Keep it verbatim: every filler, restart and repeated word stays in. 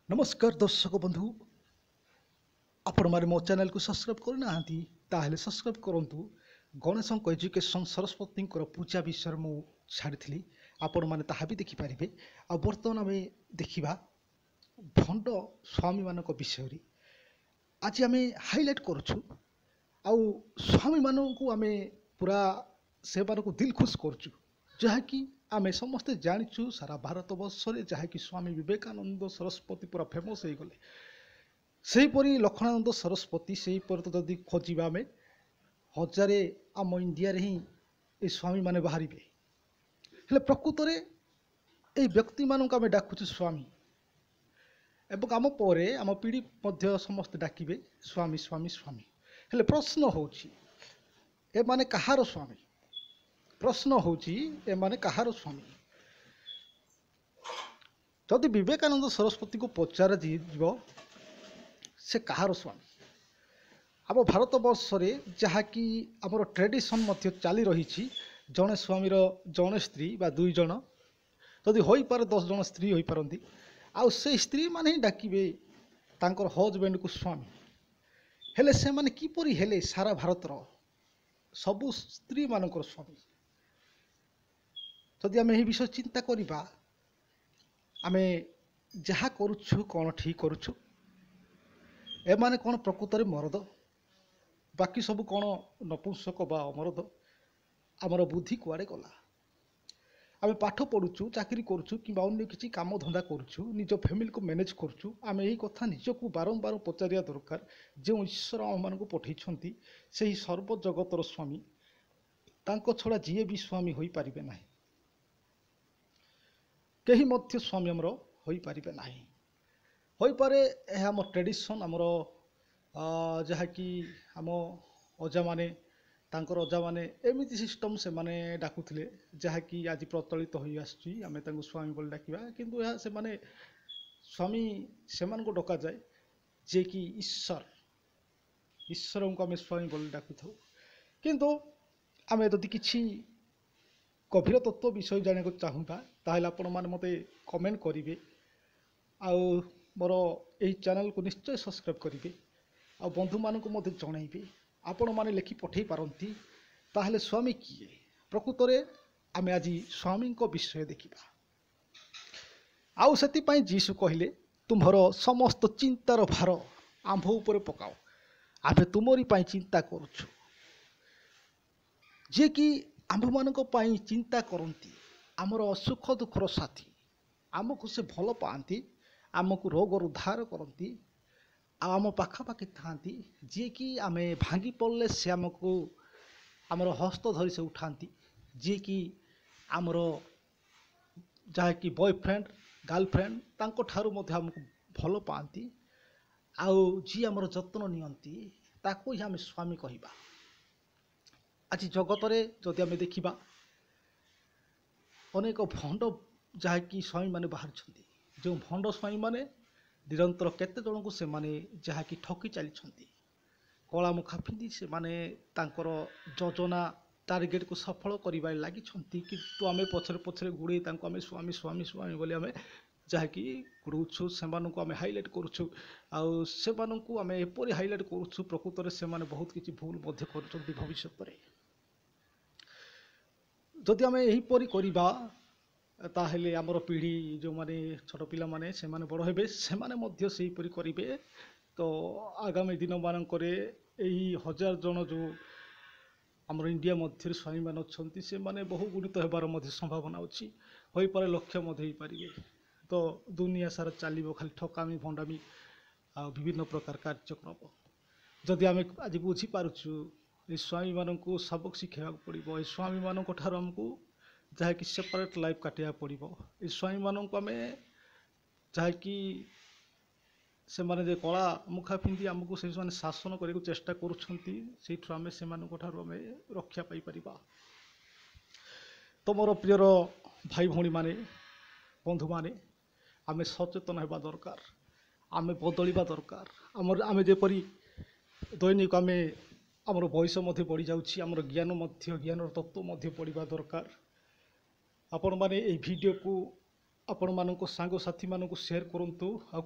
ନମସ୍କାର ଦର୍ଶକ ବନ୍ଧୁ, ଆପଣମାନେ ମୋ ଚ୍ୟାନେଲକୁ ସବସ୍କ୍ରାଇବ୍ କରିନାହାନ୍ତି ତାହେଲେ ସବସ୍କ୍ରାଇବ୍ କରନ୍ତୁ। ଗଣେଶଙ୍କ ଏଜୁକେସନ୍, ସରସ୍ୱତୀଙ୍କର ପୂଜା ବିଷୟରେ ମୁଁ ଛାଡ଼ିଥିଲି, ଆପଣମାନେ ତାହା ବି ଦେଖିପାରିବେ। ଆଉ ବର୍ତ୍ତମାନ ଆମେ ଦେଖିବା ଭଣ୍ଡ ସ୍ୱାମୀମାନଙ୍କ ବିଷୟରେ। ଆଜି ଆମେ ହାଇଲାଇଟ୍ କରୁଛୁ ଆଉ ସ୍ୱାମୀମାନଙ୍କୁ ଆମେ ପୁରା ସେମାନଙ୍କୁ ଦିଲ ଖୁସ୍ କରୁଛୁ, ଯାହାକି ଆମେ ସମସ୍ତେ ଜାଣିଛୁ ସାରା ଭାରତ ବର୍ଷରେ, ଯାହାକି ସ୍ୱାମୀ ବିବେକାନନ୍ଦ ସରସ୍ୱତୀ ପୁରା ଫେମସ୍ ହେଇଗଲେ। ସେହିପରି ଲକ୍ଷ୍ମଣାନନ୍ଦ ସରସ୍ୱତୀ, ସେହିପରି ତ ଯଦି ଖୋଜିବା ଆମେ ହଜାରେ ଆମ ଇଣ୍ଡିଆରେ ହିଁ ଏ ସ୍ୱାମୀମାନେ ବାହାରିବେ। ହେଲେ ପ୍ରକୃତରେ ଏଇ ବ୍ୟକ୍ତିମାନଙ୍କୁ ଆମେ ଡାକୁଛୁ ସ୍ୱାମୀ, ଏବଂ ଆମ ପରେ ଆମ ପିଢ଼ି ମଧ୍ୟ ସମସ୍ତେ ଡାକିବେ ସ୍ୱାମୀ ସ୍ୱାମୀ ସ୍ୱାମୀ। ହେଲେ ପ୍ରଶ୍ନ ହେଉଛି ଏମାନେ କାହାର ସ୍ୱାମୀ? ପ୍ରଶ୍ନ ହେଉଛି ଏମାନେ କାହାର ସ୍ୱାମୀ? ଯଦି ବିବେକାନନ୍ଦ ସରସ୍ୱତୀଙ୍କୁ ପଚରାଯିବ ସେ କାହାର ସ୍ୱାମୀ? ଆମ ଭାରତବର୍ଷରେ ଯାହାକି ଆମର ଟ୍ରେଡ଼ିସନ୍ ମଧ୍ୟ ଚାଲି ରହିଛି, ଜଣେ ସ୍ୱାମୀର ଜଣେ ସ୍ତ୍ରୀ ବା ଦୁଇ ଜଣ, ଯଦି ହୋଇପାରେ ଦଶ ଜଣ ସ୍ତ୍ରୀ ହୋଇପାରନ୍ତି, ଆଉ ସେଇ ସ୍ତ୍ରୀମାନେ ହିଁ ଡାକିବେ ତାଙ୍କର ହଜବେଣ୍ଡକୁ ସ୍ୱାମୀ। ହେଲେ ସେମାନେ କିପରି ହେଲେ ସାରା ଭାରତର ସବୁ ସ୍ତ୍ରୀମାନଙ୍କର ସ୍ୱାମୀ? ଯଦି ଆମେ ଏହି ବିଷୟ ଚିନ୍ତା କରିବା, ଆମେ ଯାହା କରୁଛୁ କ'ଣ ଠିକ୍ କରୁଛୁ? ଏମାନେ କ'ଣ ପ୍ରକୃତରେ ମରଦ? ବାକି ସବୁ କ'ଣ ନପୁଂସକ ବା ଅମରଦ? ଆମର ବୁଦ୍ଧି କୁଆଡ଼େ ଗଲା? ଆମେ ପାଠ ପଢ଼ୁଛୁ, ଚାକିରି କରୁଛୁ କିମ୍ବା ଅନ୍ୟ କିଛି କାମ ଧନ୍ଦା କରୁଛୁ, ନିଜ ଫ୍ୟାମିଲିକୁ ମ୍ୟାନେଜ୍ କରୁଛୁ, ଆମେ ଏହି କଥା ନିଜକୁ ବାରମ୍ବାର ପଚାରିବା ଦରକାର। ଯେଉଁ ଈଶ୍ୱର ଆମମାନଙ୍କୁ ପଠେଇଛନ୍ତି ସେହି ସର୍ବଜଗତର ସ୍ୱାମୀ, ତାଙ୍କ ଛଡ଼ା ଯିଏ ବି ସ୍ୱାମୀ ହୋଇପାରିବେ ନାହିଁ, କେହି ମଧ୍ୟ ସ୍ୱାମୀ ଆମର ହୋଇପାରିବେ ନାହିଁ। ହୋଇପାରେ ଏହା ଆମ ଟ୍ରେଡ଼ିସନ୍, ଆମର ଯାହାକି ଆମ ଅଜାମାନେ, ତାଙ୍କର ଅଜାମାନେ ଏମିତି ସିଷ୍ଟମ୍ ସେମାନେ ଡାକୁଥିଲେ, ଯାହାକି ଆଜି ପ୍ରଚଳିତ ହୋଇ ଆସୁଛି। ଆମେ ତାଙ୍କୁ ସ୍ୱାମୀ ବୋଲି ଡାକିବା, କିନ୍ତୁ ଏହା ସେମାନେ ସ୍ୱାମୀ ସେମାନଙ୍କୁ ଡକାଯାଏ ଯିଏକି ଈଶ୍ୱର, ଈଶ୍ୱରଙ୍କୁ ଆମେ ସ୍ୱାମୀ ବୋଲି ଡାକୁଥାଉ। କିନ୍ତୁ ଆମେ ଯଦି କିଛି ଗଭୀର ତତ୍ତ୍ୱ ବିଷୟ ଜାଣିବାକୁ ଚାହୁଁବା, ତାହେଲେ ଆପଣମାନେ ମୋତେ କମେଣ୍ଟ କରିବେ ଆଉ ମୋର ଏହି ଚ୍ୟାନେଲକୁ ନିଶ୍ଚୟ ସବସ୍କ୍ରାଇବ୍ କରିବେ ଆଉ ବନ୍ଧୁମାନଙ୍କୁ ମଧ୍ୟ ଜଣାଇବେ। ଆପଣମାନେ ଲେଖି ପଠାଇ ପାରନ୍ତି। ତାହେଲେ ସ୍ୱାମୀ କିଏ? ପ୍ରକୃତରେ ଆମେ ଆଜି ସ୍ୱାମୀଙ୍କ ବିଷୟ ଦେଖିବା। ଆଉ ସେଥିପାଇଁ ଯୀଶୁ କହିଲେ, ତୁମ୍ଭର ସମସ୍ତ ଚିନ୍ତାର ଭାର ଆମ୍ଭ ଉପରେ ପକାଅ, ଆମ୍ଭେ ତୁମରି ପାଇଁ ଚିନ୍ତା କରୁଛୁ। ଯିଏକି ଆମ୍ଭମାନଙ୍କ ପାଇଁ ଚିନ୍ତା କରନ୍ତି, ଆମର ସୁଖ ଦୁଃଖର ସାଥୀ, ଆମକୁ ସେ ଭଲ ପାଆନ୍ତି, ଆମକୁ ରୋଗରୁ ଉଦ୍ଧାର କରନ୍ତି ଆଉ ଆମ ପାଖାପାଖି ଥାଆନ୍ତି। ଯିଏକି ଆମେ ଭାଙ୍ଗି ପଡ଼ିଲେ ସେ ଆମକୁ ଆମର ହସ୍ତ ଧରି ସେ ଉଠାନ୍ତି। ଯିଏକି ଆମର ଯାହାକି ବୟଫ୍ରେଣ୍ଡ ଗାର୍ଲଫ୍ରେଣ୍ଡ ତାଙ୍କଠାରୁ ମଧ୍ୟ ଆମକୁ ଭଲ ପାଆନ୍ତି, ଆଉ ଯିଏ ଆମର ଯତ୍ନ ନିଅନ୍ତି ତାକୁ ହିଁ ଆମେ ସ୍ୱାମୀ କହିବା। ଆଜି ଜଗତରେ ଯଦି ଆମେ ଦେଖିବା ଅନେକ ଭଣ୍ଡ ଯାହାକି ସ୍ୱାମୀମାନେ ବାହାରୁଛନ୍ତି, ଯେଉଁ ଭଣ୍ଡ ସ୍ୱାମୀମାନେ ନିରନ୍ତର କେତେ ଜଣଙ୍କୁ ସେମାନେ ଯାହାକି ଠକି ଚାଲିଛନ୍ତି, କଳା ମୁଖା ପିନ୍ଧି ସେମାନେ ତାଙ୍କର ଯୋଜନା ଟାର୍ଗେଟକୁ ସଫଳ କରିବାରେ ଲାଗିଛନ୍ତି। କିନ୍ତୁ ଆମେ ପଛରେ ପଛରେ ଗୁଡ଼େଇ ତାଙ୍କୁ ଆମେ ସ୍ୱାମୀ ସ୍ୱାମୀ ସ୍ୱାମୀ ବୋଲି ଆମେ ଯାହାକି ଗୁଡ଼ଉଛୁ, ସେମାନଙ୍କୁ ଆମେ ହାଇଲାଇଟ୍ କରୁଛୁ। ଆଉ ସେମାନଙ୍କୁ ଆମେ ଏପରି ହାଇଲାଇଟ୍ କରୁଛୁ, ପ୍ରକୃତରେ ସେମାନେ ବହୁତ କିଛି ଭୁଲ ମଧ୍ୟ କରୁଛନ୍ତି ଭବିଷ୍ୟତରେ। ଯଦି ଆମେ ଏହିପରି କରିବା ତାହେଲେ ଆମର ପିଢ଼ି ଯେଉଁମାନେ ଛୋଟ ପିଲାମାନେ ସେମାନେ ବଡ଼ ହେବେ, ସେମାନେ ମଧ୍ୟ ସେହିପରି କରିବେ। ତ ଆଗାମୀ ଦିନମାନଙ୍କରେ ଏହି ହଜାର ଜଣ ଯେଉଁ ଆମର ଇଣ୍ଡିଆ ମଧ୍ୟରେ ସ୍ୱାମୀମାନେ ଅଛନ୍ତି, ସେମାନେ ବହୁ ଗୁଣିତ ହେବାର ମଧ୍ୟ ସମ୍ଭାବନା ଅଛି, ହୋଇପାରେ ଲକ୍ଷ୍ୟ ମଧ୍ୟ ହେଇପାରିବେ। ତ ଦୁନିଆ ସାରା ଚାଲିବ ଖାଲି ଠକାମି ଭଣ୍ଡାମି ଆଉ ବିଭିନ୍ନ ପ୍ରକାର କାର୍ଯ୍ୟକ୍ରମ। ଯଦି ଆମେ ଆଜି ବୁଝିପାରୁଛୁ, ଏ ସ୍ୱାମୀମାନଙ୍କୁ ସବକ ଶିଖାଇବାକୁ ପଡ଼ିବ, ଏ ସ୍ୱାମୀମାନଙ୍କ ଠାରୁ ଆମକୁ ଯାହାକି ସେପାରେଟ୍ ଲାଇଫ୍ କାଟିବାକୁ ପଡ଼ିବ। ଏ ସ୍ୱାମୀମାନଙ୍କୁ ଆମେ ଯାହାକି ସେମାନେ ଯେ କଳା ମୁଖା ପିନ୍ଧି ଆମକୁ ସେମାନେ ଶାସନ କରିବାକୁ ଚେଷ୍ଟା କରୁଛନ୍ତି, ସେଇଠୁ ଆମେ ସେମାନଙ୍କ ଠାରୁ ଆମେ ରକ୍ଷା ପାଇପାରିବା। ତ ମୋର ପ୍ରିୟର ଭାଇ ଭଉଣୀମାନେ, ବନ୍ଧୁମାନେ, ଆମେ ସଚେତନ ହେବା ଦରକାର, ଆମେ ବଦଳିବା ଦରକାର। ଆମର ଆମେ ଯେପରି ଦୈନିକ ଆମେ ଆମର ବୟସ ମଧ୍ୟ ବଢ଼ିଯାଉଛି, ଆମର ଜ୍ଞାନ ମଧ୍ୟ, ଜ୍ଞାନର ତତ୍ତ୍ୱ ମଧ୍ୟ ବଢ଼ିବା ଦରକାର। ଆପଣମାନେ ଏହି ଭିଡ଼ିଓକୁ ଆପଣମାନଙ୍କ ସାଙ୍ଗସାଥିମାନଙ୍କୁ ସେୟାର କରନ୍ତୁ ଆଉ